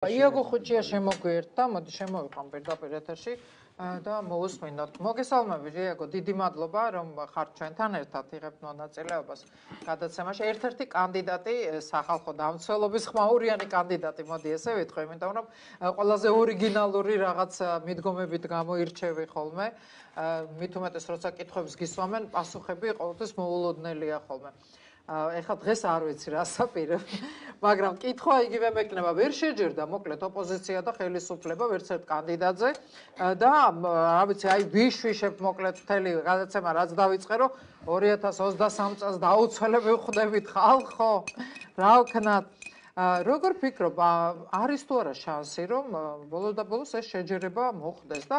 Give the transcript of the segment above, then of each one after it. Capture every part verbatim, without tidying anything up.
იაგო ხუჭია შემოგვიერთა, მოდი შემოვიყავ პირდაპირ ეთერში და მოусმინოთ. მოგესალმებით, იაგო, დიდი მადლობა, რომ ხართ ჩვენთან ერთად იღებთ მონაწილეობას გადაცემაში. ერთ-ერთი კანდიდატი, სახალხო დამცველობის ხმაურიანი კანდიდატი, მოდი ესე ვიტყვი, იმიტომ რომ ყველაზე ორიგინალური რაღაც მიდგომებით გამოირჩევი ხოლმე. მით უმეტეს, როცა კითხვებს გისვამენ, პასუხები ყოველთვის მოულოდნელია ხოლმე. ეხლა დღეს არ ვიცი რა საპირებ, მაგრამ კითხვა იგივე მექნება, ვერ შეჯერდა მოკლედ ოპოზიცია და ხელისუფლება ვერც ერთ კანდიდატზე და რა ვიცი, აი ვიშვიშებ მოკლედ მთელი გადაცემა რაც დავიწყე, რომ ორი ათას ოცდასამ წელს დაუცველებ ვხვდებით ხალხო, რა ვქნათ. როგორ ფიქრობ, არის თუ არა შანსი, რომ ბოლოს და ბოლოს ეს შეჯერება მოხდეს და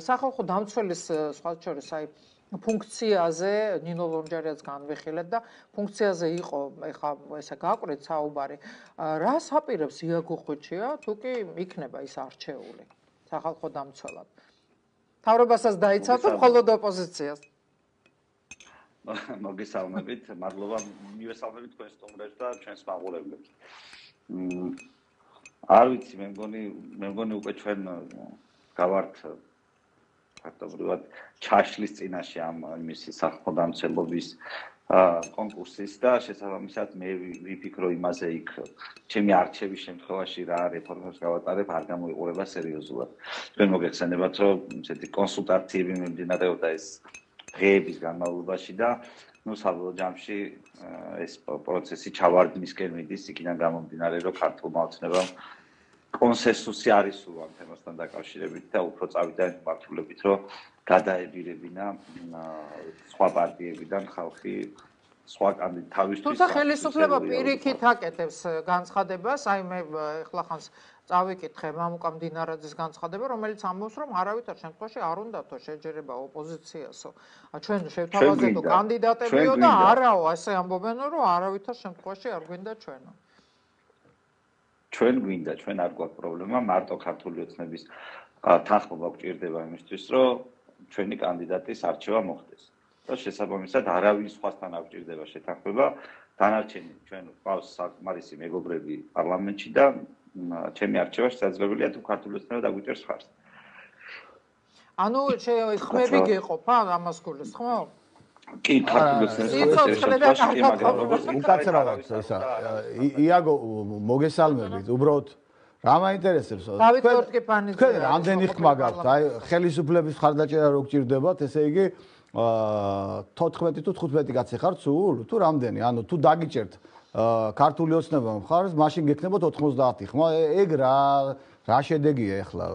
სახალხო დამცველის სხვა შორის აი ფუნქციაზე ნინო ლონჯარიაც განვიხილეთ და ფუნქციაზე იყო ეხა ესე გაკვირით საუბარი. რა საპირებს იაგო ხუჭია, თუ კი იქნება ის არჩეული სახალხო დამცველად? თავრობასაც დაიცავ თუ მხოლოდ ოპოზიციას? მოგესალმებით, მადლობა მივესალმებით თქვენ სტუმრებს და ჩვენს მაყურებლებს. არ ვიცი, მე მგონი, მე მგონი უკვე ჩვენ გავართ ფაქტობრივად ჩაშლის წინაშე ამ იმისი სახალხო დამცველობის კონკურსის და შესაბამისად მე ვიფიქრო იმაზე იქ ჩემი არჩევის შემთხვევაში რა რეფორმებს გავატარებ არ გამოიყურება სერიოზულად. თქვენ მოგეხსენებათ, რომ ესეთი კონსულტაციები მიმდინარეობდა ეს დღეების განმავლობაში და ნუ საბოლოო ჯამში ეს პროცესი ჩავარდნისკენ მიდის, იქიდან გამომდინარე, რომ ქართულმა ოცნებამ კონსენსუსი არის სულ ამ თემასთან დაკავშირებით და უფრო წავიდა მართულებით, რომ გადაებირებინა სხვა პარტიებიდან ხალხი სხვა კანდიდატ თავისთვის. თუმცა ხელისუფლება პირიქით აკეთებს განცხადებას, აი მე ეხლა ხანს წავიკითხე მამუკა მდინარაძის განცხადება, რომელიც ამბობს, რომ არავითარ შემთხვევაში არ უნდათო შეჯერება ოპოზიციასო. ჩვენ შევთავაზებო კანდიდატებიო და არაო, ასე ამბობენო, რომ არავითარ შემთხვევაში არ გვინდა ჩვენო. ჩვენ გვინდა, ჩვენ არ გვაქვს პრობლემა, მარტო ქართული ოცნების თანხმობა გვჭირდება იმისთვის, რომ ჩვენი კანდიდატის არჩევა მოხდეს. და შესაბამისად არავინ სხვასთან არ გვჭირდება შეთანხმება, დანარჩენი ჩვენ გვყავს საკმარისი მეგობრები პარლამენტში და ჩემი არჩევა შესაძლებელია თუ ქართული ოცნება დაგვიჭერს ხარს. ანუ ხმები გეყოფა ამას გულს, ხო? კი, ქართული ოცნების უკაცრავად ესა. იაგო, მოგესალმებით, უბრალოდ რა მაინტერესებს? თქვენ რამდენი ხმა გაქვთ? აი, ხელისუფლების ხარდაჭერა რო გჭირდებათ, ესე იგი თოთხმეტი თუ თხუთმეტი კაცი ხართ სულ? თუ რამდენი? ანუ თუ დაგიჭერთ ქართული ოცნება მხარს, მაშინ გექნებათ ოთხმოცდაათი ხმა. ეგ რა რა შედეგია ეხლა?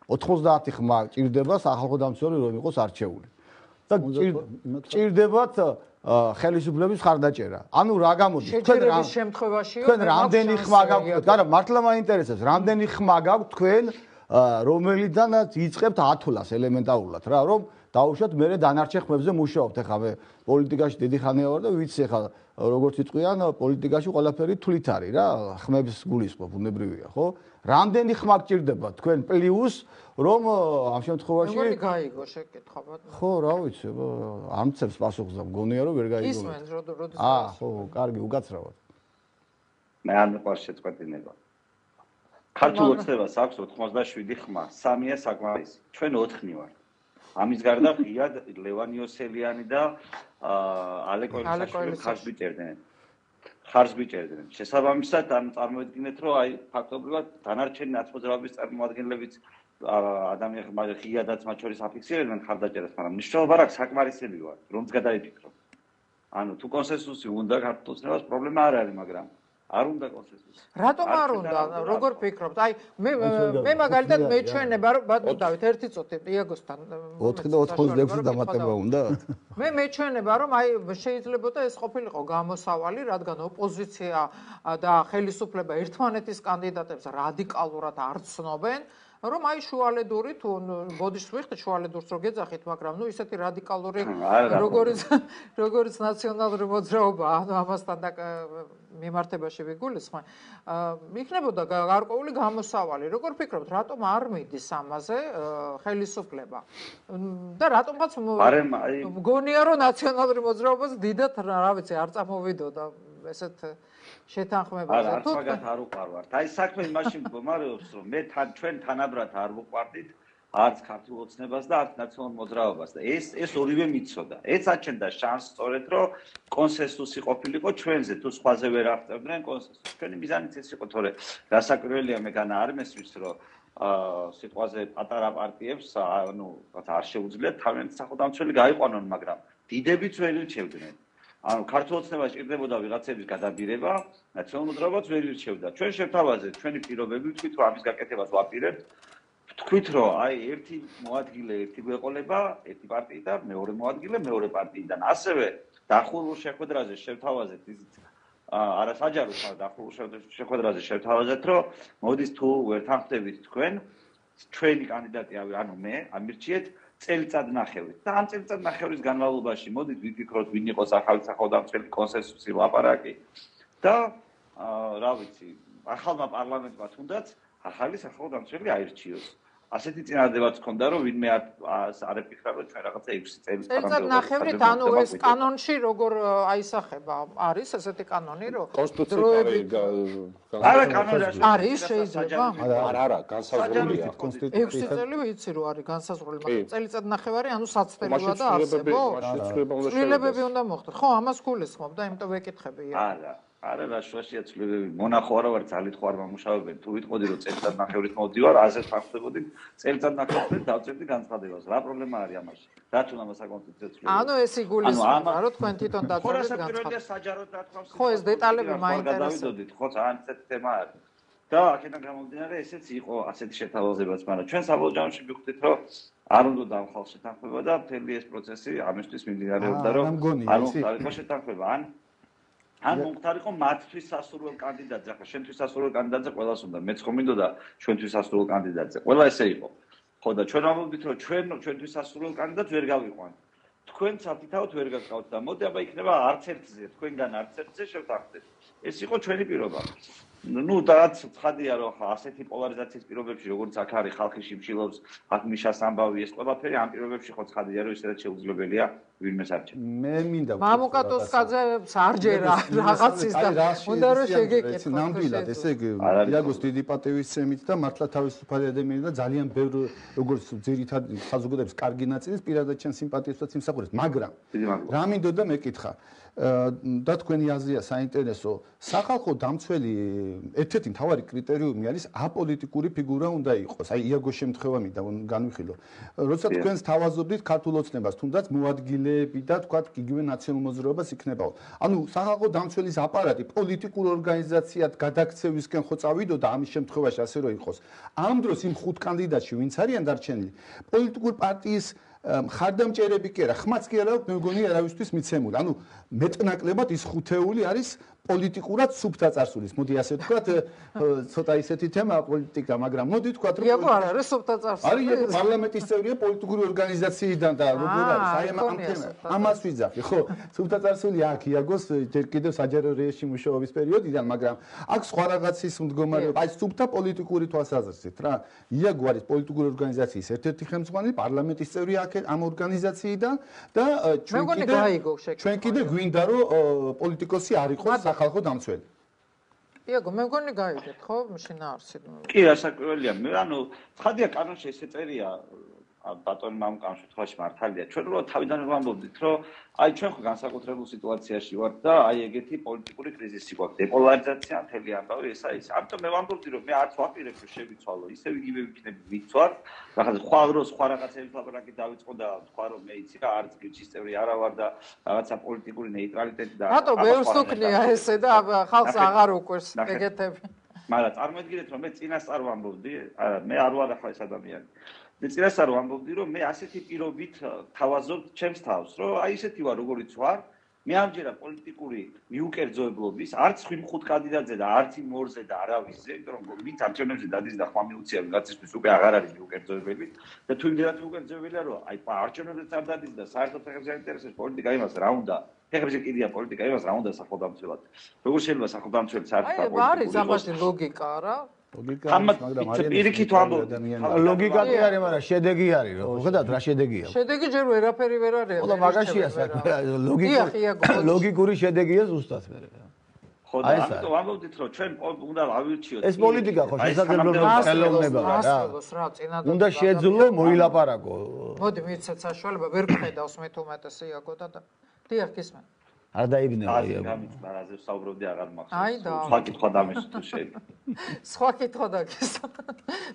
ოთხმოცდაათი ხმა ჭირდება სახალხო დამცველი რომ იყოს არჩეული. და ჭირდებათ ხელისუფლების ხარდაჭერა. ანუ რა გამოდის? შეჯერების შემთხვევაშიო თქვენ რამდენი ხმა გაქვთ? არა, მართლა მაინტერესებს, რამდენი ხმა გაქვთ თქვენ, რომელიდანაც იწყებთ ათვლას ელემენტარულად რა, რომ დაუშვათ მე დანარჩენ ხმებზე მუშაობთ. ეხლა მე პოლიტიკაში დიდი ხანია ვარ და ვიცი ეხლა როგორც იტყვიან, პოლიტიკაში ყველაფერი თვლით არის რა, ხმებს გულისხმობ, უნებრივია, ხო? რამდენი ხმა გჭირდება თქვენ პლუს რომ ამ შემთხვევაში როგორი გაიგო შეკითხვა? ხო, რა ვიცი, არ მცემს პასუხს და მგონია რომ ვერ გაიგო. ისმენს როდის? აა, ხო, კარგი, უკაცრავად. მე არ მიყვარს შეწყვეტინება. ქართულ ოცნებას აქვს ოთხმოცდაშვიდი ხმა, სამია საკმარისი. ჩვენ ოთხნი ვართ. ამის გარდა ღია ლევან იოსელიანი და ალე კოილიშვილი ხარს გვიჭერდნენ. ხარს გვიჭერდნენ. შესაბამისად, ან წარმოვიდგინეთ, რომ აი ფაქტობრივად დანარჩენი ნაცმოძრაობის წარმომადგენლებიც ადამიანები ღიადაც მათ შორის აფიქსირებდნენ ხარდაჭერას, მაგრამ მნიშვნელობა არ აქვს, საკმარისები ვარ, რომც გადაიფიქრო. ანუ თუ კონსენსუსი უნდა ქართულ ოცნებას, პრობლემა არ არის, მაგრამ არ უნდა კონსენსუსი. რატომ არ უნდა? როგორ ფიქრობთ? აი მე მე მაგალითად მეჩვენება რომ ბატონო დავით ერთი წუთი იაგოსთან ოთხი და ოცდაექვსი დამატება უნდა? მე მეჩვენება რომ აი შეიძლებოდა ეს ყოფილიყო გამოსავალი, რადგან ოპოზიცია და ხელისუფლება ერთმანეთის კანდიდატებს რადიკალურად არ ცნობენ. რომ აი შუალედური თუ ბოდიშს ვიხდით შუალედურს რო გეძახით, მაგრამ ნუ ისეთი რადიკალური როგორც როგორც ნაციონალური მოძრაობა, ანუ ამასთან და მიმართებაში ვიგულისხმე, იქნებოდა გარკვეული გამოსავალი. როგორ ფიქრობთ, რატომ არ მიდის ამაზე ხელისუფლება? და რატომღაც მგონია რომ ნაციონალური მოძრაობას დიდად რა ვიცი არ წამოვიდოდა ესეთ შეთანხმებაზე. არა, არც მაგათ არ უყარვართ. აი საქმე იმაში მდგომარეობს, რომ მე თან ჩვენ თანაბრად არ ვუყვარდით არც ქართულ ოცნებას და არც ნაციონალურ მოძრაობას და ეს ეს ორივე მიცოდა. ეს აჩენდა შანსს სწორედ რომ კონსენსუსი ყოფილიყო ჩვენზე თუ სხვაზე ვერ აღწევდნენ კონსენსუსს. ჩვენი მიზანიც ეს იყო, თორე გასაკვირველია მე განა არ მესმის რომ აა სიტყვაზე პატარა პარტიებს ანუ არ შეუძლიათ თავიანთი სახელმწიფო გაიყვანონ, მაგრამ დიდებიც ვერ ირჩევდნენ. ანუ ქართულ ოცნებას ჭირდებოდა ვიღაცების გადაბირება, ნაციონალურ მოძრაობას ვერ ირჩევდა. ჩვენ შევთავაზეთ ჩვენი პირობები, ვთქვით რომ ამის გაკეთებას ვაპირებთ. თქვით რომ აი ერთი მოადგილე ერთი გვეყოლება, ერთი პარტიი და მეორე მოადგილე მეორე პარტიიდან. ასევე დახურულ შეხვედრაზე შევთავაზეთ ისიც არასაჯარო დახურულ შეხვედრაზე შევთავაზეთ რომ მოდის თუ ვერ თანხმდებით თქვენ ჩვენი კანდიდატი ანუ მე ამირჩიეთ წელიწად ნახევრით. და ამ წელიწად ნახევრის განმავლობაში მოდით ვიფიქროთ ვინ იყოს ახალი სახელმწიფო კონსენსუსი ლაპარაკი და რა ვიცი ახალმა პარლამენტმა თუნდაც ახალი სახელმწიფო აირჩიოს. ასეთი წინადადებაც ჰქონდა რომ ვინმე არ ეფიქრა რომ ჩვენ რაღაცა ექვსი წელი წელიწად ნახევრით ანუ ეს კანონში როგორ აისახება არის ესეთი კანონი რომ კონსტიტუციური არა კანონი არის შეიძლება არა არა განსაზღვრულია ექვსი წელი ვიცი რომ არის განსაზღვრული მაგრამ წელიწად ნახევარი ანუ საცდელია და არსებობს ცვლილებები უნდა მოხდეს ხო ამას გულისხმობ და იმიტომ ვეკითხები არა არა რა შუაშია ცვლილებები მონახო არა ვარ ძალით ხო არ მომუშავებენ თუ ვიტყოდი რომ წელიწად ნახევრით მოვდივარ აზრს ვახდებოდი წელიწად ნახევრით დავწერდი განცხადებას რა პრობლემა არის ამაში რა თუნდა საკონსტიტუციო ცვლილება ანუ ეს იგულისხმება რომ თქვენ თვითონ დაწერთ განცხადებას საჯაროდ რა თქმა უნდა ხო ეს დეტალები მაინტერესებს ხო ძალიან ესეთი თემა არის და აქედან გამომდინარე ესეც იყო ასეთი შეთავაზებაც მაგრამ ჩვენ საბოლოო ჯამში ვიხდით რომ არ უნდა დავხალ შეთანხმება და მთელი ეს პროცესი ამისთვის მიმდინარეობდა რომ არ უნდა იყოს შეთანხმება ან ან მომხდარიყო მათთვის სასურველ კანდიდატზე, ახლა შენთვის სასურველ კანდიდატზე ყველას უნდა, მეც ხომ მინდოდა ჩვენთვის სასურველ კანდიდატზე. ყველა ესე იყო. ხო და ჩვენ ამბობთ რომ ჩვენ ჩვენთვის სასურველ კანდიდატს ვერ გავიყვანთ. თქვენ საფრთხით ვერ გაგყავთ და მოდი აბა იქნება არც ერთზე, თქვენგან არც ერთზე შევთანხმდეთ. ეს იყო ჩვენი პირობა. ну რაც ცხადია რომ ხა ასეთი პოლარიზაციის პირობებში როგორც აქ არის ხალხი შიმშილობს აქ მიშას ამბავი ეს ყველაფერი ამ პირობებში ხო ცხადია რომ ისედაც შეუძლებელია ვინმეს არჩევ მე მინდა მამუკატოსკაძე სარჯერა რაღაცის და უნდა რომ შეგეკითხო ნამდვილად ესე იგი იაგოს დიდი პატივისცემით და მართლა თავისუფალი ადამიანი და ძალიან ბევრი როგორც ძირითადად საზოგადოების კარგი ნაწილის პირადად ჩემ სიმპათიასაც იმსახურებს მაგრამ რა მინდოდა მეკითხა და თქვენი აზრია საინტერესო სახალხო დამცველი ერთ-ერთი მთავარი კრიტერიუმი არის აპოლიტიკური ფიგურა უნდა იყოს აი იაგოს შემთხვევა მინდა განვიხილო როცა თქვენს თავაზობდით ქართულ ოცნებას თუნდაც მოადგილეები და თქვათ იგივე ნაციონალურ მოძრაობას იქნებაო ანუ სახალხო დამცველის აპარატი პოლიტიკურ ორგანიზაციად გადაქცევისკენ ხო წავიდოდა ამის შემთხვევაში ასე რომ იყოს ამ დროს იმ ხუთ კანდიდატში ვინც არიან დარჩენილი პოლიტიკურ პარტიის მხარდამჭერები კი არა, ხმაც კი არა, მე მგონი არავისთვის მიცემული. ანუ მეტნაკლებად ის ხუთეული არის პოლიტიკურად სუფთა წარსულის. მოდი ასე ვთქვათ, ცოტა ისეთი თემაა პოლიტიკა, მაგრამ მოდი ვთქვათ, რომ იაგო არ არის სუფთა წარსული. არის პარლამენტის წევრია პოლიტიკური ორგანიზაციიდან და როგორ არის? აი ამ თემას ამას ვიძახი, ხო? სუფთა წარსული აქ იაგოს ჯერ კიდევ საჯარო რეჟიმში მუშაობის პერიოდიდან, მაგრამ აქ სხვა რაღაცის მდგომარეობა, აი სუფთა პოლიტიკური თვალსაზრისით რა. იაგო არის პოლიტიკური ორგანიზაციის ერთ-ერთი ხელმძღვანელი, პარლამენტის წევრი აქ ამ ორგანიზაციიდან და ჩვენ კიდე ჩვენ კიდე გვინდა რომ პოლიტიკოსი არ იყოს სახალხო დამცველი. იაგო მე მგონი გაიგეთ ხო შინაარსი. კი რასაკვირველია მე ანუ ცხადია კანონში ესე წერია ბატონი მამუკამ შემთხვევაში მართალია ჩვენ რო თავიდან ვამბობდით რომ აი ჩვენ ხო განსაკუთრებულ სიტუაციაში ვართ და აი ეგეთი პოლიტიკური კრიზისი გვაქვს დეპოლარიზაცია მთელი ამბავი ესა ის ამიტომ მე ვამბობდი რომ მე არც ვაპირებ რომ შევიცვალო ისევ იგივე ვიქნები ვიცვარ რაღაცა სხვა დროს სხვა რაღაცების ლაპარაკი დავიწყო და თქვა რომ მე იცი რა არც გიჩის წევრი არა ვარ და რაღაცა პოლიტიკური ნეიტრალიტეტი და რატო ბევრს უქნია ესე და ხალხს აღარ უკვირს ეგეთები მაგრამ წარმოიდგინეთ რომ მე წინასწარ ვამბობდი არა მე არ ვარ ახლა ეს ადამიანი მე წინასწარ ვამბობდი რომ მე ასეთი პირობით თავაზობ ჩემს თავს რომ აი ესეთი ვარ როგორიც ვარ მე ამჯერად პოლიტიკური მიუკერძოებლობის არც ხუთ ხუთ კანდიდატზე და არც იმ ორზე და არავისზე იმიტომ რომ ვინც არჩევნებზე დადის და ხმა მიუწია ვიღაცისთვის უკვე აღარ არის მიუკერძოებელი და თუ იმდენად მიუკერძოებელია რომ აი არჩევნებზეც არ დადის და საერთოდ ფეხებზე აინტერესებს პოლიტიკა იმას რა უნდა ფეხებზე კიდია პოლიტიკა იმას რა უნდა სახელმწიფოდ როგორ შეიძლება სახელმწიფოდ საერთოდ აი არის ამაში ლოგიკა რა ლოგიკა მაგრამ არის პირიქით ვამბობ ლოგიკა კი არის მაგრამ შედეგი არის რომ ხედავთ რა შედეგია შედეგი ჯერ ვერაფერი ვერ არის ხო და მაგაშია საქმე ლოგიკური ლოგიკური შედეგია ზუსტად მე ხო და ამიტომ ვამბობდით რომ ჩვენ უნდა ავირჩიოთ ეს პოლიტიკა ხო შესაძლებლობა ხელოვნება რა უნდა შეეძლო მოილაპარაკო მოდი მიცეთ საშუალება ვერ გხედავს მე თუ უმეტესი იაგო და დიახ გისმენ არ დაიბნევა იაგო ამის პარაზე ვსაუბრობდი აღარ მახსოვს სხვა კითხვა დამეშ თუ შეიძლება სხვა კითხვა დაგესვა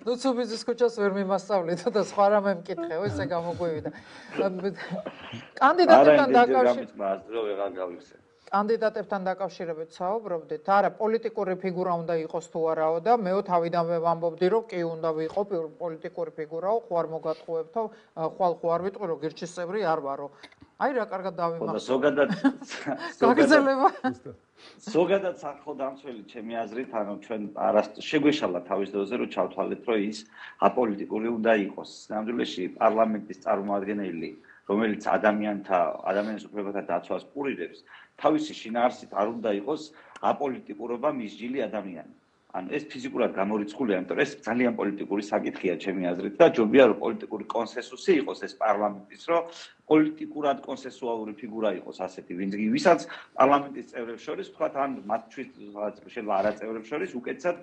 ნუ ცუბიზის ქუჩას ვერ მიმასწავლეთ და სხვა რამე მკითხეო ესე გამოგვივიდა კანდიდატებთან დაკავშირებით კანდიდატებთან დაკავშირებით საუბრობდით. არა, პოლიტიკური ფიგურა უნდა იყოს თუ არაო და მეო თავიდანვე ვამბობდი, რომ კი უნდა ვიყო პოლიტიკური ფიგურაო, ხო არ მოგატყუებთო, ხვალ ხო არ ვიტყვი, რომ გირჩის წევრი არ ვარო. აი რა კარგად დავიმახსოვრე. ზოგადად გაგრძელება. ზოგადად სახელმწიფო ჩემი აზრით, ანუ ჩვენ არასდროს შეგვეშალა თავის დროზე, რომ ჩავთვალეთ, რომ ის აპოლიტიკური უნდა იყოს. ნამდვილში პარლამენტის წარმომადგენელი რომელიც ადამიანთა ადამიანის უფლებათა დაცვას პურირებს, თავისი შინაარსით არ უნდა იყოს აპოლიტიკურობა მისჯილი ადამიანი. ანუ ეს ფიზიკურად გამორიცხულია, იმიტომ რომ ეს ძალიან პოლიტიკური საკითხია ჩემი აზრით და ჯობია რომ პოლიტიკური კონსენსუსი იყოს ეს პარლამენტის, რომ პოლიტიკურად კონსენსუალური ფიგურა იყოს ასეთი, ვინც ვისაც პარლამენტის წევრებს შორის, თქვათ, ან მათთვის შეიძლება არა წევრებს შორის უკეთესად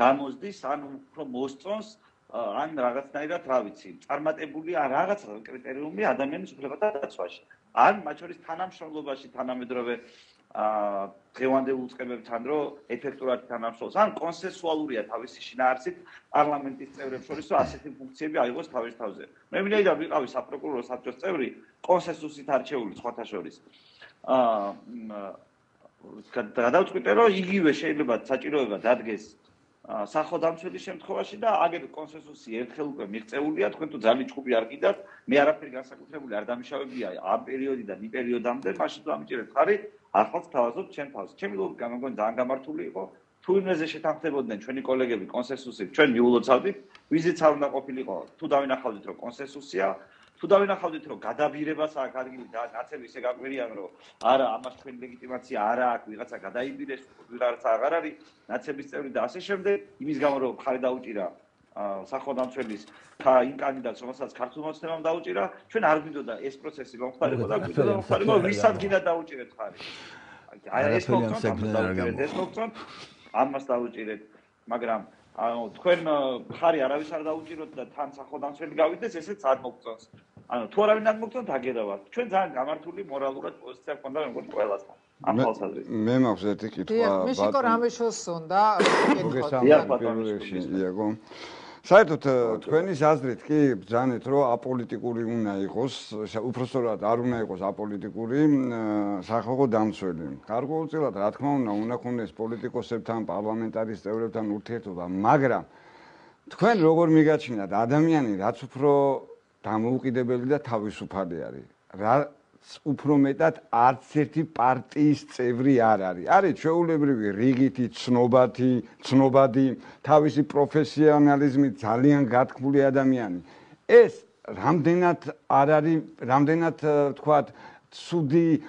გამოსდის, ან უფრო მოსწონს ან რაღაცნაირად რა ვიცი, წარმატებული რაღაც კრიტერიუმი ადამიანის უფლებათა დაცვაში. ან მათ შორის თანამშრომლობაში თანამედროვე დღევანდელ უწყებებთან რომ ეფექტურად თანამშრომლობს, ან კონსენსუალურია თავისი შინაარსით პარლამენტის წევრებს შორის, რომ ასეთი ფუნქციები აიღოს თავის თავზე. მე მინდა ვიყავი საპროკურორო საბჭოს წევრი, კონსენსუსით არჩეული სხვათა შორის. აა გადავწყვიტე, რომ იგივე შეიძლება საჭიროება დადგეს სახელმწიფოს შემთხვევაში და აგერ კონსენსუსი ერთხელ უკვე მიღწეულია, თქვენ თუ ძალიან ჭუბი არ გიდათ, მე არაფერი განსაკუთრებული არ დამიშავებია ამ პერიოდიდან იმ პერიოდამდე, მაშინ დამიჭერეთ ხარი, ახალს თავაზობ ჩემ თავს. ჩემი ლოგიკა მეგონი ძალიან გამართული იყო. თუ იმაზე შეთანხმდებოდნენ ჩვენი კოლეგები კონსენსუსით, ჩვენ მიულოცავდით, ვიზიც არ უნდა ყოფილიყო, თუ დავინახავდით, რომ კონსენსუსია, თუ დავინახავდით, რომ გადაბირებას აქ ადგილი და ნაცები ისე გაგვირიან, რომ არა, ამას თქვენი ლეგიტიმაცია არა აქვს, ვიღაცა გადაიბირეს, ვიღაცა აღარ არის, ნაცების წევრი და ასე შემდეგ, იმის გამო რომ ხარი დაუჭირა სახელმწიფოს ხა იმ კანდიდატს, რომელსაც ქართულ მოცნებამ დაუჭირა, ჩვენ არ გვინდოდა ეს პროცესი მომხდარიყო და გვინდოდა მომხდარიყო, ვისაც გინდა დაუჭირეთ ხარი. აი ეს მოგწონთ, ეს მოგწონთ, ამას დაუჭირეთ, მაგრამ ანუ თქვენ ხარი არავის არ დაუჭიროთ და თან სახელმწიფო გავიდეს, ესეც არ მოგწონს. ანუ თუ არავინ არ მოგწონთ, აგერავათ. ჩვენ ძალიან გამართული მორალურად პოზიცია გვქონდა მეგონი ყველასთან. ამ ხალხაზრით. მე მაქვს ერთი კითხვა. მე შეკო რამეშოს უნდა კითხვა. იაგო. საერთოდ თქვენი აზრით კი ბრძანეთ, რომ აპოლიტიკური უნდა იყოს, უпростоრად არ უნდა იყოს აპოლიტიკური სახალხო დამცველი. გარკვეულწილად, რა თქმა უნდა, უნდა ქონდეს პოლიტიკოსებთან, პარლამენტარის წევრებთან ურთიერთობა, მაგრამ თქვენ როგორ მიგაჩნიათ, ადამიანი რაც უფრო დამოუკიდებელი და თავისუფალი არის, რა უფრო მეტად არც ერთი პარტიის წევრი არ არის. არის ჩვეულებრივი რიგითი, ცნობათი, ცნობადი, თავისი პროფესიონალიზმით ძალიან გათქმული ადამიანი. ეს რამდენად არ არის, რამდენად თქვათ, ცუდი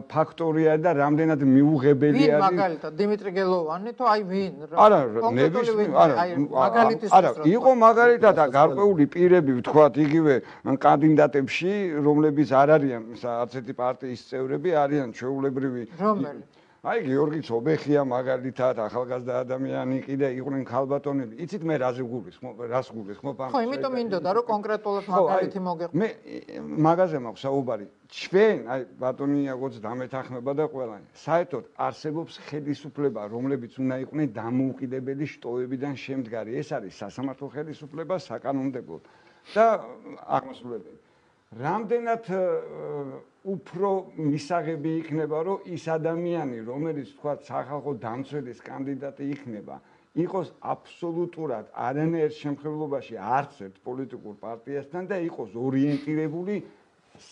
ფაქტორია და რამდენად მიუღებელი არის. ვინ მაგალითად დიმიტრი გელოვანი თუ აი ვინ? არა, ნებისმიერ, არა, არა, იყო მაგალითად გარკვეული პირები, ვთქვათ, იგივე კანდიდატებში, რომლებიც არ არიან არც ერთი პარტიის წევრები, არიან ჩვეულებრივი. რომელი? აი გიორგი ცობეხია მაგალითად, ახალგაზრდა ადამიანი, კიდე იყვნენ ქალბატონები. იცით მე რაზე გულისხმობ, რას გულისხმობ ამ. ხო, იმიტომ მინდოდა რომ კონკრეტულად მაგალითი მოგეყვება. მე მაგაზე მაქვს საუბარი. ჩვენ, აი ბატონი იაგოც დამეთანხმება და ყველანი. საერთოდ არსებობს ხელისუფლება, რომლებიც უნდა იყვნენ დამოუკიდებელი შტოებიდან შემდგარი. ეს არის სასამართლო ხელისუფლება, საკანონმდებლო და აღმასრულებელი. რამდენად უფრო მისაღები იქნება, რომ ის ადამიანი, რომელიც თქვა სახალხო დამცველის კანდიდატი იქნება, იყოს აბსოლუტურად არანაირ შემთხვევაში არც ერთ პოლიტიკურ პარტიასთან და იყოს ორიენტირებული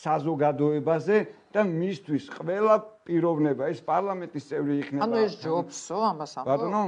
საზოგადოებაზე და მისთვის ყველა პიროვნება ეს პარლამენტის წევრი იქნება. ანუ ეს ჯობსო ამას ამბობ. ბატონო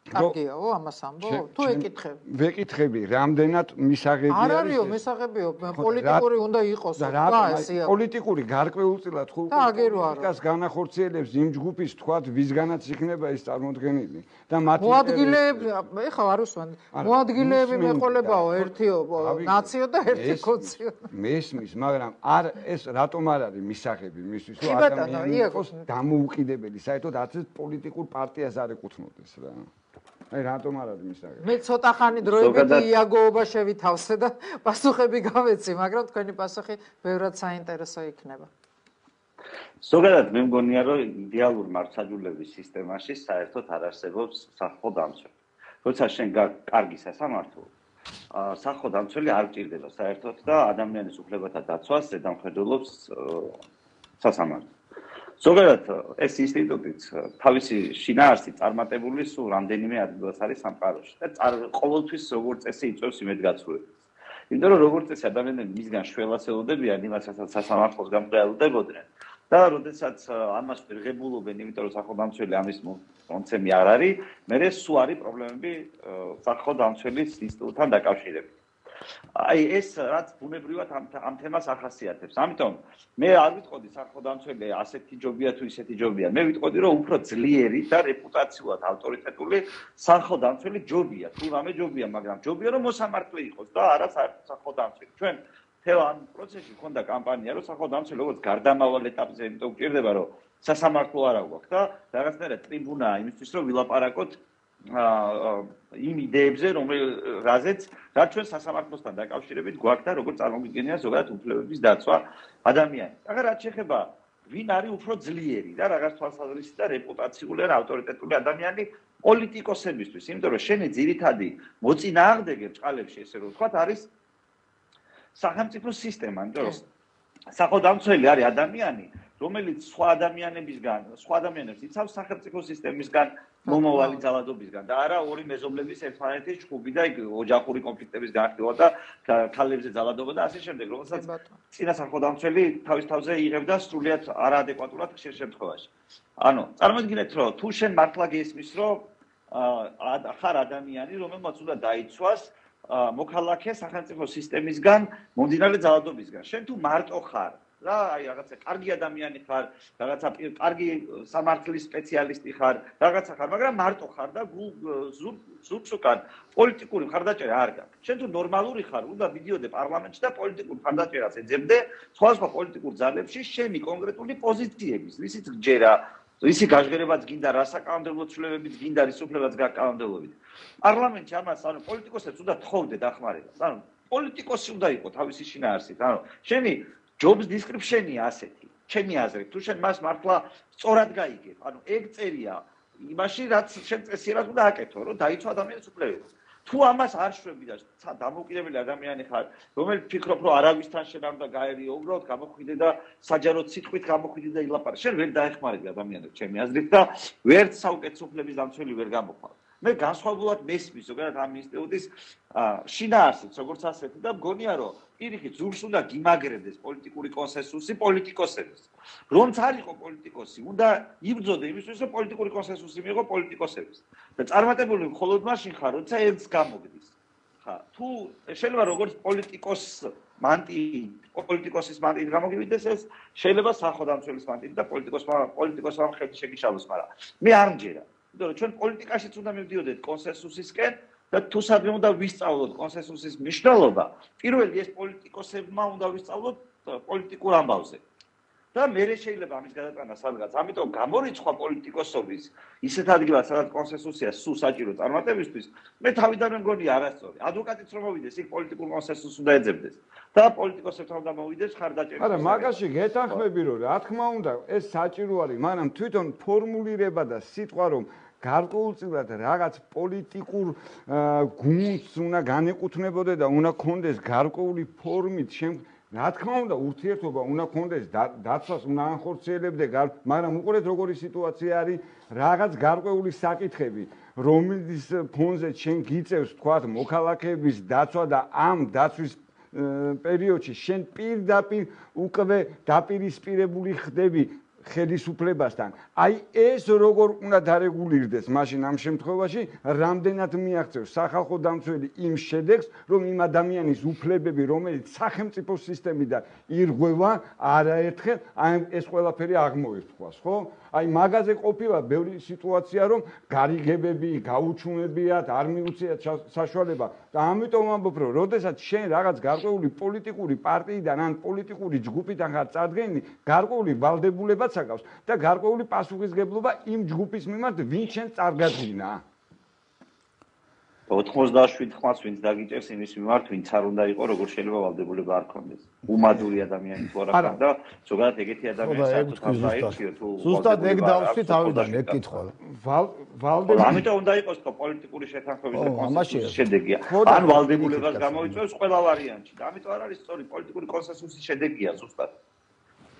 კარგიაო ამას ამბო? თუ ეკითხები. ვეკითხები, რამდენად მისაღები არის? არ არისო, მისაღებიო, პოლიტიკური უნდა იყოს. და ესეა. პოლიტიკური გარკვეულწილად ხო პოლიტიკას განახორციელებს იმ ჯგუფის თქვათ, ვისგანაც იქნება ეს წარმოქმნილი და მათი მოადგილეები, ეხლა არ უსვან. მოადგილეები მეყოლებაო, ერთიო ნაციო და ერთი კოციო. მესმის, მაგრამ არ ეს რატომ არ არის მისაღები მისთვის, რომ ადამიანი იყოს დამოუკიდებელი, საერთოდ არც პოლიტიკურ პარტიას არ ეკუთვნოდეს რა. აი რატომ არ არის მისაღები? მე ცოტა ხანი დროებით იაგოობა შევითავსე და პასუხები გავეცი, მაგრამ თქვენი პასუხი ბევრად საინტერესო იქნება. ზოგადად მე მგონია, რომ იდეალურ მართლმსაჯულების სისტემაში საერთოდ არ არსებობს სახო დამცველი. როცა შენ კარგი სასამართლო, სახო დამცველი არ გჭირდება საერთოდ და ადამიანის უფლებათა დაცვას ზედამხედველობს სასამართლო. ზოგადად ეს ინსტიტუტიც თავისი შინაარსით წარმატებული სულ რამდენიმე ადგილას არის სამყაროში და ყოველთვის როგორც წესი იწვევს იმედგაცრუებას. იმიტომ რომ როგორც წესი ადამიანები მისგან შველას ელოდებიან იმას, რასაც სასამართლოს გამყრეალდებოდნენ და როდესაც ამას ვერღებულობენ, იმიტომ რომ სახელმწიფო ამის მონცემი არ არის, მერე სულ არის პრობლემები სახელმწიფოების ინსტიტუტთან დაკავშირებით. აი ეს რაც ბუნებრივად ამ ამ თემას ახასიათებს. ამიტომ მე არ ვიტყოდი სახელმწიფო ასეთი ჯობია თუ ისეთი ჯობია. მე ვიტყოდი რომ უფრო ძლიერი და რეპუტაციულად ავტორიტეტული სახელმწიფო ჯობია. თუ რამე ჯობია, მაგრამ ჯობია რომ მოსამართლე იყოს და არა სახელმწიფო. ჩვენ თელ ამ პროცესში ქონდა კამპანია რომ სახელმწიფო როგორც გარდამავალ ეტაპზე იმიტომ გვჭირდება რომ სასამართლო არა გვაქვს და რაღაცნაირად ტრიბუნაა იმისთვის რომ ვილაპარაკოთ იმ იდეებზე, რომელზეც რაც ჩვენ სასამართლოსთან დაკავშირებით გვაქვს და როგორც წარმოგიდგენია ზოგადად უფლებების დაცვა ადამიანის. ახლა რაც შეეხება ვინ არის უფრო ძლიერი და რაღაც თვალსაზრისით და რეპუტაციული და ავტორიტეტული ადამიანი პოლიტიკოსებისთვის, იმიტომ რომ შენი ძირითადი მოწინააღმდეგე ბჭყალებში ესე რომ ვთქვათ არის სახელმწიფო სისტემა, იმიტომ რომ სახელმწიფო არის ადამიანი, რომელიც სხვა ადამიანებისგან, სხვა ადამიანებს იცავს სახელმწიფო სისტემისგან, მომავალი ძალადობისგან და არა ორი მეზობლების ერთმანეთის ჯგუფი და ოჯახური კონფლიქტების განხილვა და ქალებზე ძალადობა და ასე შემდეგ, რომელსაც წინა სახელმწიფო თავის თავზე იღებდა სრულიად არაადეკვატურად ხშირ შემთხვევაში. ანუ წარმოიდგინეთ, რომ თუ შენ მართლა გესმის, რომ ხარ ადამიანი, რომელმაც უნდა დაიცვას მოქალაქე სახელმწიფო სისტემისგან მომდინარე ძალადობისგან. შენ თუ მარტო ხარ რა აი რაღაცა კარგი ადამიანი ხარ, რაღაცა კარგი სამართლის სპეციალისტი ხარ, რაღაცა ხარ, მაგრამ მარტო ხარ და ზურგს უკან პოლიტიკური მხარდაჭერა არ გაქვს. შენ თუ ნორმალური ხარ, უნდა მიდიოდე პარლამენტში და პოლიტიკურ მხარდაჭერას ეძებდე სხვადასხვა პოლიტიკურ ძალებში შენი კონკრეტული პოზიციების, რისიც გჯერა, რისი გაჟღერებაც გინდა, რა საკანონმდებლო ცვლილებებიც გინდა, რის უფლებაც გაკანონმდებლობით. პარლამენტში ამას ანუ პოლიტიკოსებს უნდა თხოვდე დახმარებას. ანუ პოლიტიკოსი უნდა იყოს თავისი შინაარსით. ანუ შენი jobs description-ია ასეთი. ჩემი აზრით, თუ შენ მას მართლა სწორად გაიგებ, ანუ ეგ წერია იმაში, რაც შენ წესიერად უნდა აკეთო, რომ დაიცვა ადამიანის უფლებები. თუ ამას არ შვები და დამოუკიდებელი ადამიანი ხარ, რომელიც ფიქრობ, რომ არავისთან შენ არ უნდა გაერიო, უბრალოდ გამოხვიდე და საჯაროდ სიტყვით გამოხვიდე და ილაპარაკე. შენ ვერ დაეხმარები ადამიანებს ჩემი აზრით და ვერც საუკეთესო უფლების დამცველი ვერ გამოხვალ. მე განსხვავებულად მესმის ზოგადად ამ ინსტიტუტის შინაარსით, როგორც ასეთი და მგონია, რომ პირიქით ზურგს უნდა გიმაგრებდეს პოლიტიკური კონსენსუსი პოლიტიკოსების. რომც არ იყო პოლიტიკოსი, უნდა იბრძოდე იმისთვის, რომ პოლიტიკური კონსენსუსი მიიღო პოლიტიკოსების. და წარმატებული მხოლოდ მაშინ ხარ, როცა ერთს გამოგდის. ხა, თუ შეიძლება როგორც პოლიტიკოს მანტი, პოლიტიკოსის მანტით გამოგივიდეს ეს, შეიძლება სახელმწიფოს მანტით და პოლიტიკოსმა პოლიტიკოსმა ხელი შეგიშალოს, მაგრამ მე არ მჯერა. იმიტომ რომ ჩვენ პოლიტიკაშიც უნდა მივდიოდეთ კონსენსუსისკენ და თუ სადმე უნდა ვისწავლოთ კონსენსუსის მნიშვნელობა, პირველი ეს პოლიტიკოსებმა უნდა ვისწავლოთ პოლიტიკურ ამბავზე. და მერე შეიძლება ამის გადატანა სადღაც. ამიტომ გამორიცხვა პოლიტიკოსობის ისეთ ადგილას, სადაც კონსენსუსია სულ საჭირო წარმატებისთვის, მე თავიდანვე მგონია არასწორი. ადვოკატიც რომ მოვიდეს, იქ პოლიტიკურ კონსენსუსს უნდა ეძებდეს და პოლიტიკოსებთან უნდა მოვიდეს ხარდაჭერა. არა, მაგაში გეთანხმები რომ რა თქმა უნდა, ეს საჭირო არის, მაგრამ თვითონ ფორმულირება და სიტყვა რომ გარკვეულწილად რაღაც პოლიტიკურ გუნდს უნდა განეკუთვნებოდე და უნდა კონდეს გარკვეული ფორმით შენ რა თქმა უნდა ურთიერთობა უნდა კონდეს დაცვას უნდა ანხორციელებდე, მაგრამ უყურეთ როგორი სიტუაცია არის, რაღაც გარკვეული საკითხები, რომლის ფონზე შენ გიწევს თქვათ მოქალაქეების დაცვა და ამ დაცვის პერიოდში შენ პირდაპირ უკვე დაპირისპირებული ხდები ხელისუფლებასთან. აი ეს როგორ უნდა დარეგულირდეს, მაშინ ამ შემთხვევაში რამდენად მიაღწევს სახალხო დამცველი იმ შედეგს, რომ იმ ადამიანის უფლებები, რომელიც სახელმწიფო სისტემიდან ირღვევა, არაერთხელ აი ეს ყველაფერი აღმოერთხვას, ხო? აი მაგაზე ყოფილა ბევრი სიტუაცია, რომ გარიგებები, გაუჩუმებიათ, არ მიუციათ საშუალება და ამიტომ ამბობ, რომ როდესაც შენ რაღაც გარკვეული პოლიტიკური პარტიიდან ან პოლიტიკური ჯგუფიდან ხარ წარდგენილი, გარკვეული ვალდებულებაც აკავს და გარკვეული პასუხისგებლობა იმ ჯგუფის მიმართ, ვინც შენ წარგადგინა. ოთხმოცდაშვიდ ხმას ვინც დაგიჭერს იმის მიმართ, ვინც არ უნდა იყო, როგორ შეიძლება ვალდებულება არ ქონდეს. უმადური ადამიანი თუ არა და ზოგადად ეგეთი ადამიანი საერთოდ არ დაირჩიო თუ ზუსტად ეგ დავსვი თავიდან ეგ კითხვა. ვალდებულება ამიტომ უნდა იყოს თქო პოლიტიკური შეთანხმების და კონსენსუსის შედეგია. ან ვალდებულებას გამოიწვევს ყველა ვარიანტში. და ამიტომ არ არის სწორი პოლიტიკური კონსენსუსის შედეგია ზუსტად.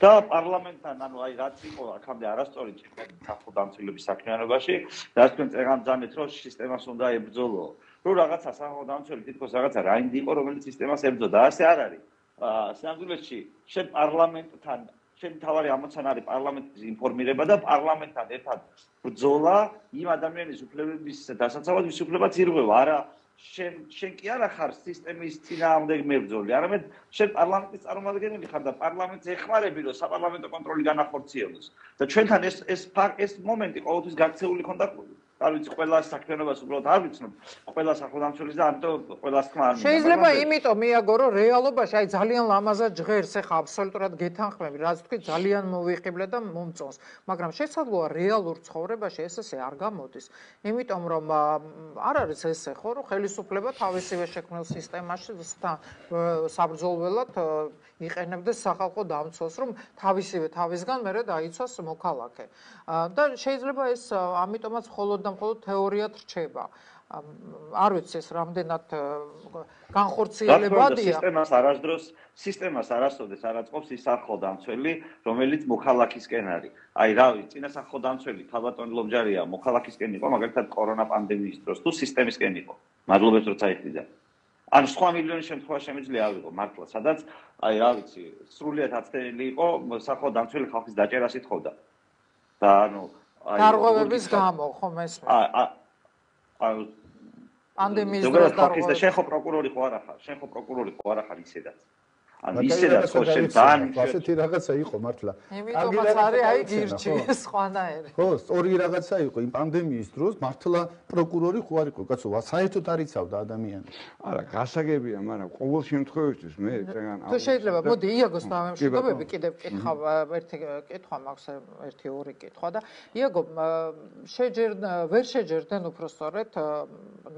და პარლამენტთან, ანუ აი რაც იყო აქამდე არასწორი ჭირდება სახელმწიფოების საქმიანობაში, რაც თქვენ წეგან ძანეთ, რომ სისტემას უნდა ებრძოლო. რომ რაღაცა სახელმწიფო თითქოს რაღაცა რაინდი იყო, რომელიც სისტემას ებრძოდა. ასე არ არის. აა სინამდვილეში შენ პარლამენტთან, შენ თავარი ამოცანა არის პარლამენტის ინფორმირება და პარლამენტთან ერთად ბრძოლა იმ ადამიანის უფლებების დასაცავად, ვის უფლებაც ირღვევა, არა შენ შენ კი არა ხარ სისტემის წინააღმდეგ მებრძოლი, არამედ შენ პარლამენტის წარმომადგენელი ხარ და პარლამენტს ეხმარები, რომ საპარლამენტო კონტროლი განახორციელოს. და ჩვენთან ეს ეს ეს მომენტი ყოველთვის გაქცეული ქონდა, არ ვიცი, ყველა საქმიანობას უბრალოდ არ ვიცნობ, ყველა სახელმწიფოს და ამიტომ ყველას თქმა არ მინდა. შეიძლება იმიტომ მიაგო, რომ რეალობაში აი ძალიან ლამაზად ჟღერს, ეხა აბსოლუტურად გეთანხმები, რაც თქვი ძალიან მოვიხიბლე და მომწონს, მაგრამ შესაძლოა რეალურ ცხოვრებაში ეს ესე არ გამოდის. იმიტომ რომ არ არის ესე ხო, რომ ხელისუფლება თავისივე შექმნილ სისტემაში საბრძოლველად იყენებდეს სახალხო დამცველს, რომ თავისივე თავისგან მერე დაიცვას მოქალაქე. და შეიძლება ეს ამიტომაც მხოლოდ და მხოლოდ თეორიად რჩება. არ ვიცი ეს რამდენად განხორციელებადია. სისტემას არასდროს სისტემას არასოდეს არ აწყობს ის სახალხო დამცველი, რომელიც მოქალაქისკენ არის. აი რა ვიცი, წინა სახალხო დამცველი თავატონი ლომჯარია, მოქალაქისკენ იყო, მაგალითად კორონა პანდემიის დროს თუ სისტემისკენ იყო. მადლობებს როცა იხდიდა. ან სხვა მილიონი შემთხვევა შემიძლია ავიღო მართლა, სადაც აი რა ვიცი, სრულიად აცდენილი იყო სახალხო დამცველი ხალხის დაჭერას ითხოვდა. და ანუ აი დარღვევების გამო, ხო მესმე. აა აა პანდემიის დროს დარღვევა. შენ ხო პროკურორი ხო არა ხარ? შენ ხო პროკურორი ხო არა ხარ ისედაც? ან ისედაც ხო შენ ძალიან ასეთი რაღაცა იყო მართლა. იმიტომაც არის აი გირჩი სხვანაირი. ხო, სწორი რაღაცა იყო იმ პანდემიის დროს მართლა პროკურორი ხო არ იყო, კაცო, საერთოდ არ იცავდა ადამიანი. არა, გასაგებია, მაგრამ ყოველ შემთხვევაში მე წეგან თუ შეიძლება, მოდი იაგოს დამემშვიდობები კიდევ კითხავ ერთი კითხვა მაქვს, ერთი ორი კითხვა და იაგო შეჯერ ვერ შეჯერდნენ უბრალოდ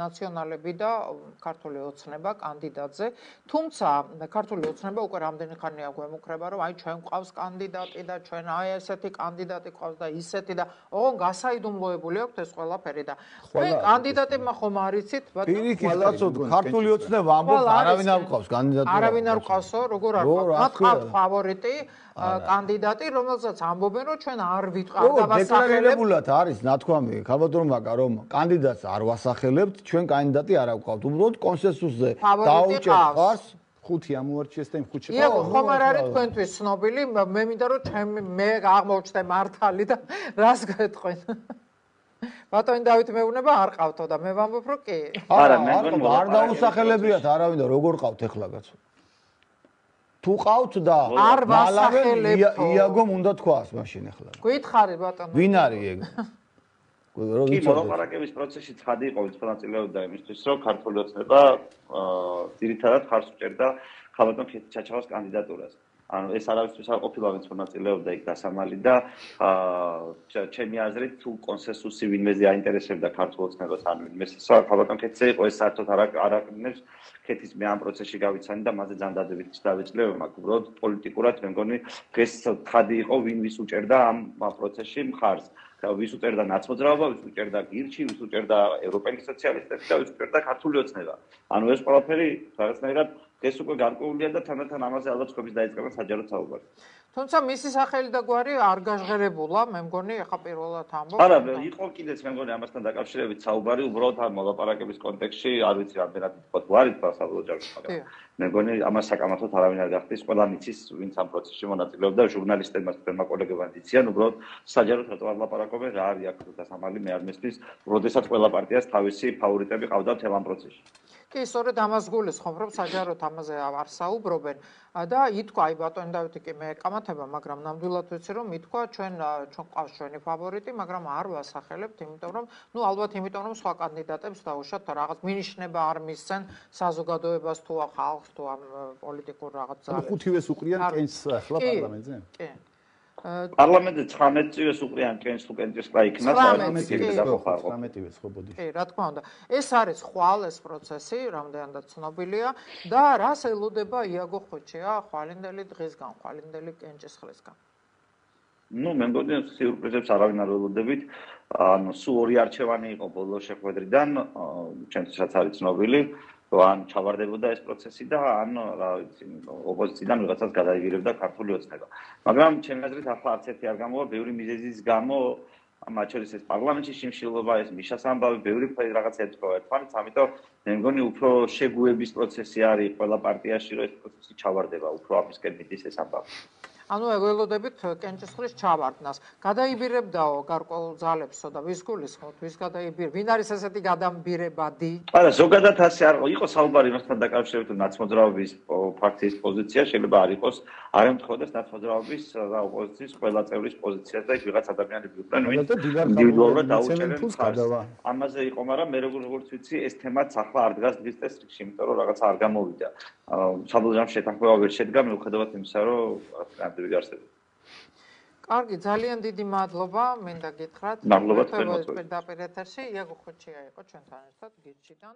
ნაციონალები და ქართული ოცნება კანდიდატზე, თუმცა ქართული ოცნება უკვე რამდენი ხანია გვემუქრება, რომ აი ჩვენ გვყავს კანდიდატი და ჩვენ აი ესეთი კანდიდატი გვყავს და ისეთი და ოღონ გასაიდუმლოებული აქვს ეს ყველაფერი და თქვენ კანდიდატებმა ხომ არიცით, ბატონო? პირიქით, კაცო, ქართული ოცნება ამბობს, არავინ არ გვყავს კანდიდატურა. არავინ არ გვყავსო, როგორ არ გვყავს? მათ ყავთ ფავორიტი კანდიდატი, რომელსაც ამბობენ, რომ ჩვენ არ ვიტყავ და ვასახელებთ. დეკლარირებულად არის ნათქვამი, ქალბატონ მაგა, რომ კანდიდატს არ ვასახელებთ, ჩვენ კანდიდატი არ გვყავთ. უბრალოდ კონსენსუსზე დაუჭერთ ხარს. ხუთი ამოარჩიეს და იმ ხუთში ხო, ხომ არ არის თქვენთვის ცნობილი, მე მინდა რომ ჩემ მე აღმოჩნდე მართალი და რას გეტყვენ. ბატონი დავით მეუბნება არ ყავთო და მე ვამბობ რომ კი. არა, მე მგონი არ დაუსახელებიათ არავინ და როგორ ყავთ ეხლა კაცო. თუ ყავთ და არ ვასახელებთ. იაგომ უნდა თქვას მაშინ ეხლა. გითხარი ბატონო. ვინ არის ეგ? კი, მოლაპარაკების პროცესში ცხადი იყო ვინც მონაწილეობდა იმისთვის, რომ ქართული ოცნება ძირითადად ხარს უჭერდა ხალბატონ ჩაჩავას კანდიდატურას. ანუ ეს არავისთვის არ ყოფილა ვინც მონაწილეობდა იქ დასამალი და ჩემი აზრით თუ კონსენსუსი ვინმეზე აინტერესებდა ქართულ ოცნებას ან ვინმეს ხალბატონ ქეთზე იყო ეს საერთოდ არ არაკნებს ქეთის მე ამ პროცესში გავიცანი და მასზე ძანდადებით დავეწყლე მაგ უბრალოდ პოლიტიკურად მე მგონი დღეს ცხადი იყო ვინ ვის უჭერდა ამ პროცესში მხარს. ვის უჭერდა ნაცმოძრაობა, ვის უჭერდა გირჩი, ვის უჭერდა ევროპელი სოციალისტები და ვის უჭერდა ქართული ოცნება. ანუ ეს ყველაფერი რაღაცნაირად დღეს უკვე გარკვეულია და თანდათან ამაზე ალბათ ხობის დაიწყება საჯარო საუბარი. თუმცა მისი სახელი და გვარი არ გაჟღერებულა, მე მგონი ახლა პირველად ამბობ. არა, იყო კიდეც მე მგონი ამასთან დაკავშირებით საუბარი, უბრალოდ ამ მოლაპარაკების კონტექსტში, არ ვიცი რამდენად ითქვა თუ არ ითქვა საბოლოო ჯამში, მაგრამ მე მგონი ამას საკამათოდ არავინ არ გახდის, ყველამ იცის, ვინც ამ პროცესში მონაწილეობდა, ჟურნალისტებმა, თქვენმა კოლეგებმა იციან, უბრალოდ საჯაროდ რატო არ ლაპარაკობენ, რა არის აქ დასამალი, მე არ მესმის, როდესაც ყველა პარტიას თავისი ფავორიტები ყავდა მთელ ამ პროცესში. კი, სწორედ ამას გულისხმობ, რომ საჯაროდ ამაზე არ საუბრობენ და ითქვა, აი ბატონი დავითი კი მე ეკამათება, მაგრამ ნამდვილად ვიცი, რომ ითქვა, ჩვენ ჩვენ ყავს ჩვენი ფავორიტი, მაგრამ არ ვასახელებთ, იმიტომ რომ, ნუ ალბათ იმიტომ რომ სხვა კანდიდატებს დაუშვათ რაღაც მინიშნება არ მისცენ საზოგადოებას თუ ხალხს თუ ამ პოლიტიკურ რაღაც ძალებს. ხუთივეს უყრიან კენს ახლა პარლამენტზე? კი. პარლამენტზე ცხრამეტივეს უყრიან კენს თუ კენჭის ყა იქნა ცხრამეტივეს ხო ბოდი. კი, რა თქმა უნდა. ეს არის ხვალ ეს პროცესი, რამდენადაც ცნობილია და რას ელოდება იაგო ხოჩია ხვალინდელი დღისგან, ხვალინდელი კენჭისხლისგან. ნუ მე მგონი სიურპრიზებს არავინ არ ველოდებით. ანუ სულ ორი არჩევანი იყო ბოლო შეხვედრიდან, ჩვენთვისაც არის ცნობილი. ან ჩავარდებოდა ეს პროცესი და ან რა ვიცი ოპოზიციიდან ვიღაცას გადაიგირებდა ქართული ოცნება. მაგრამ ჩემი აზრით ახლა არც ერთი არ გამოვა ბევრი მიზეზის გამო, მათ შორის ეს პარლამენტში შიმშილობა, ეს მიშას ამბავი, ბევრი რაღაცა ეთქვა ერთმანეთს, ამიტომ მე მგონი უფრო შეგუების პროცესი არის ყველა პარტიაში, რომ ეს პროცესი ჩავარდება, უფრო ამისკენ მიდის ეს ამბავი. ანუ ველოდებით კენჭისხლის ჩავარდნას. გადაიბირებდაო გარკვეულ ძალებსო და ვის გულისხმობთ, ვის გადაიბირ? ვინ არის ესეთი გადამბირებადი? არა, ზოგადად ასე არ იყო საუბარი მასთან დაკავშირებით ნაცმოძრაობის ფაქტის პოზიცია, შეიძლება არ იყოს, არ ემთხვედეს ნაცმოძრაობის და ოპოზიციის ყველა წევრის პოზიციას და იქ ვიღაც ადამიანები იყვნენ, ვინ ინდივიდუალურად დაუჭერენ ხარს. ამაზე იყო, მაგრამ მე როგორც ვიცი, ეს თემაც ახლა არ დგას დღის წესრიგში, იმიტომ რომ რაღაცა არ გამოვიდა. საბოლოო ჯამში შეთანხმება ვერ შედგა, მიუხედავად იმისა, რომ კარგი, ძალიან დიდი მადლობა, მინდა გითხრათ. მადლობა თქვენ მოწვევით. პირდაპირ ეთერში იაგო ხოჩია იყო ჩვენთან ერთად გირჩიდან.